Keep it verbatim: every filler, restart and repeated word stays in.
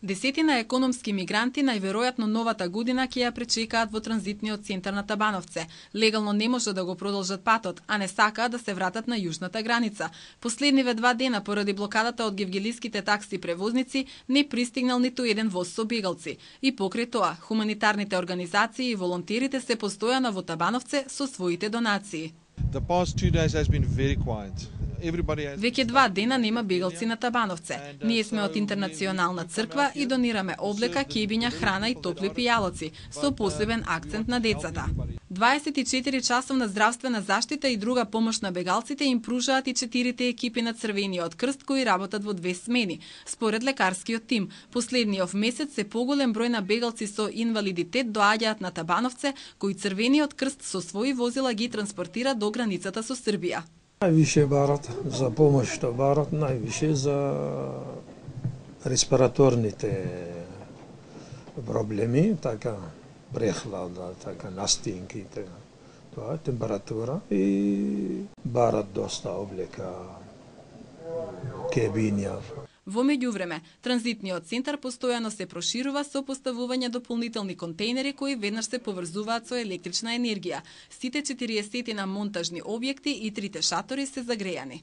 Десетина економски мигранти најверојатно новата година ќе ја пречекаат во транзитниот центар на Табановце. Легално не може да го продолжат патот, а не сакаат да се вратат на јужната граница. Последниве два дена поради блокадата од гевгелиските такси превозници не пристигнал ниту еден воз со бегалци. И покрај тоа, хуманитарните организации и волонтерите се постојано во Табановце со своите донации. The past two days has been very quiet. Веќе два дена нема бегалци на Табановце. Ние сме од Интернационална црква и донираме облека, кебиња, храна и топли пијалоци, со посебен акцент на децата. дваесет и четири часовна здравствена заштита и друга помош на бегалците им пружаат и четирите екипи на Црвениот крст кои работат во две смени. Според лекарскиот тим, последниот месец се поголем број на бегалци со инвалидитет доаѓаат на Табановце, кои Црвениот крст со своји возила ги транспортира до границата со Србија. Највише барат за помош, што барат највише за респираторните проблеми, така прехлада, така настинки, така, тоа температура и барат доста облека, кебиња. Во меѓувреме, транзитниот центар постојано се проширува со поставување дополнителни контејнери кои веднаш се поврзуваат со електрична енергија. Сите четириесет монтажни објекти и трите шатори се загрејани.